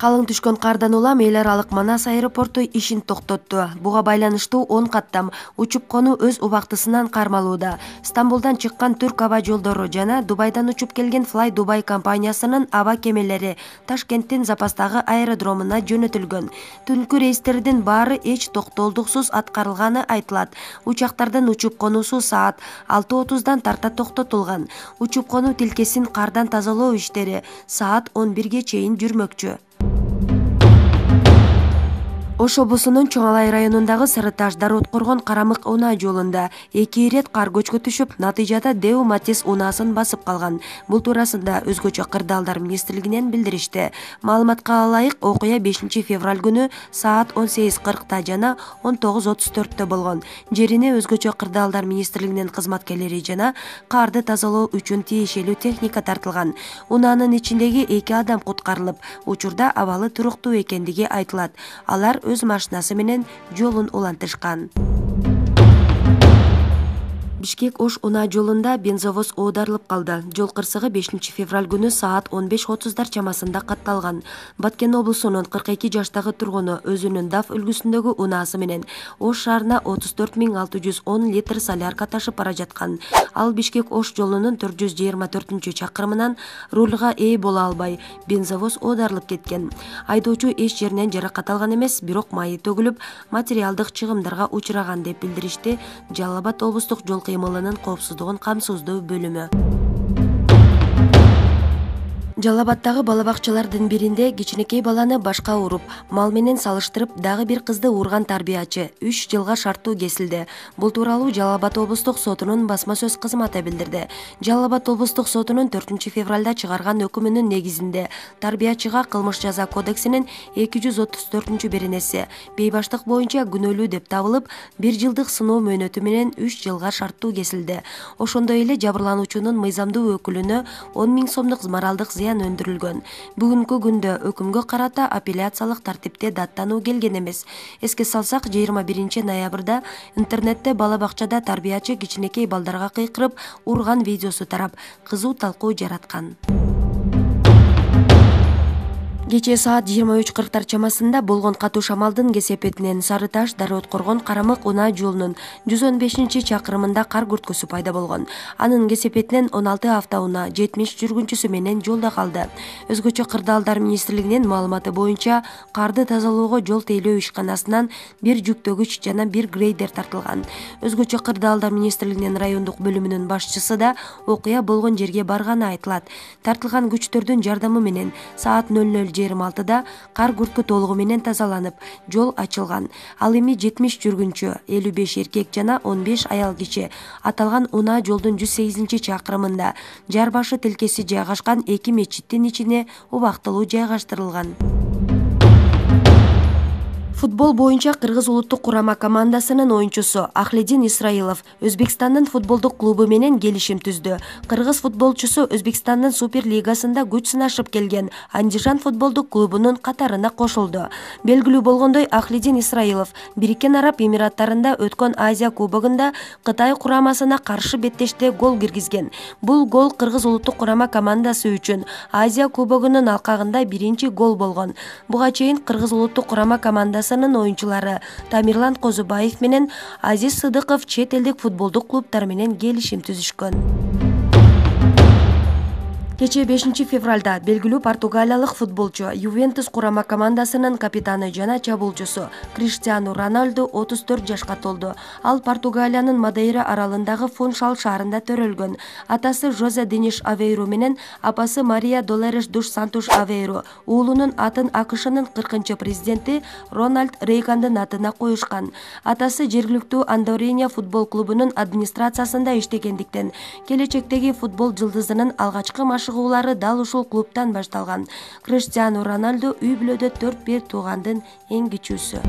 Калың түшкөн кардан улам эл аралык Манас аэропорту ишин токтотту. Буга байланыштуу 10 каттам учуп кону өз убактысынан кармалууда. Стамбулдан чыккан Түрк аба жолдору жана Дубайдан учуп келген Fly Dubai компаниясынын аба кемелери Ташкенттин запастагы аэродромуна жөнөтүлгөн. Түнкү рейстердин баары эч токтолдуксуз аткарылганы айтылат. Учактардын учуп конусу саат 6:30дан тарта токтотулган. Учуп кону тилкесин кардан тазалоо иштери саат 11ге чейин жүрмөкчү. Ош облусунун Чоң Алай районундагы Сарыташ Дарыоткоргон Карамык унаа жолунда 2 ирет кар көчкү түшүп, натыйжада Дэу Матис унаасын басып калган. Бул туурасында өзгөчө кырдаалдар министрлигинен билдиришти. Маалыматка ылайык, окуя 5 февраль күнү саат 18:40 жана 19:34 болгон. Жерине өзгөчө кырдаалдар министрлигинин кызматкерлери жана карды тазалоо үчүн тиешелүү техника тартылган. Унаанын ичиндеги 2 адам куткарылып, учурда абалы туруктуу экендиги айтылат. Алар өз машинасы менен жолун улантышкан. Бишкек-Ош унаа жолунда бензовоз оодарылып калды. Жол кырсыгы 5 февраль күнү саат 15:30 чамасында катталган. Баткен облусунун 42 жаштагы тургуну өзүнүн DAF үлгүсүндөгү унаасы менен Ош шаарына 34.610 литр солярка ташып бара жаткан. Ал Бишкек-Ош жолунун 424-чакырымынан рулга ээ боло албай, бензовоз оодарылып кеткен. Айдоочу эч жеринен жаракат алган эмес, бирок майы төгүлүп, материалдык чыгымдарга учураган деп билдиришти Жалал Абад облустук жол кыймылынын коопсуздугун камсыздоо бөлүмү. Жалал Абаддагы бала бакчалардын биринде кичинекей баланы башка уруп, мал менен салыштырып, дагы бир кызды урган тарбиячы 3 жылга шарттуу кесилди. Бул тууралуу Жалал Абад облустук сотунун басма сөз кызматы билдирди. Жалал Абад облустук сотунун 4 февралда чыгарган өкүмүнүн негизинде тарбиячыга кылмыш жаза кодексинин 234-беренеси бейбаштык боюнча күнөөлүү деп табылып, 1 жылдык сыноо мөөнөтү менен 3 жылга шарттуу кесилди. Ошондой эле жабырлануучунун мыйзамдуу өкүлүнө 10 000 сомдук моралдык зыян өндүрүлгөн. Бүгүнкү күндө өкүмгө карата апелляциялык тартипте даттануу келген эмес. Эске салсак, 21 ноябрда интернетте бала бакчада тарбиячы кичинекей балдарга кыйкырып урган видеосу тарап, кызуу талкуу жараткан. Кечээ саат 23:40 чамасында болгон катуу шамалдын кесепетинен Сарыташ Дарыоткоргон Карамык унаа жолунун 115-чакырымында кар күрткөсү пайда болгон. Анын кесепетинен 16 автоунаа 70 жүргүнчүсү менен жолдо калды. Өзгөчө кырдаалдар министрлигинин маалыматы боюнча, карды тазалоого жол тейлөө ишканасынан 1 жүктөгүч жана 1 грейдер тартылган. Өзгөчө кырдаалдар министрлигинин райондук бөлүмүнүн башчысы да окуя болгон жерге барганы айтылат. Тартылган күчтөрдүн жардамы менен саат 00:26 кар күрткө толугу менен тазаланып, жол ачылган. Ал эми 70 жүргүнчү, 55 эркек жана 15 аял киши аталган унаа жолдун 108-чакырымында жар башы тилкеси жайгашкан 2 мечиттин ичине убактылуу жайгаштырылган. Футбол боюнча Кыргыз улуттук курама командасынын оюнчусу Ахледин Исраилов Өзбекстандын футболдук клубу менен келишим түздү. Кыргыз футболчусу Өзбекстандын Супер лигасында күч сынашып келген Андижан футболдук клубунун катарына кошулду. Белгилүү болгондой, Ахледин Исраилов Бириккен Араб Эмираттарында өткөн Азия кубогунда Кытай курамасына каршы беттеште гол киргизген. Бул гол Кыргыз улуттук курама командасы үчүн Азия кубогунун алкагында биринчи гол болгон. Буга чейин Кыргыз улуттук курама командасы оюнчулары Тамирлан Козубаев менен Азиз Сыдыков чет элдик футболдук клубтар менен келишим түзүшкөн. Кечээ 5 февралда белгилүү португалиялык футболчу Ювентус курама командасынын капитаны жана чабуулчусу Криштиану Роналду 34 жашка толду. Ал Португалиянын Мадейра аралындагы Фуншал шаарында төрөлгөн. Атасы Жозе Дениш Авейру менен апасы Мария Долореш Душ Сантуш Авейру уулунун атын АКШнын 40-президенти Рональд Рейгандын атына коюшкан. Атасы жергиликтүү Андориня футбол клубунун администрациясында иштегендиктен, келечектеги футбол жылдызынын алгачкы чыгуулары дал ушул клубтан башталган. Криштиану Роналду үй бүлөдө 4 туугандын эң кичүүсү.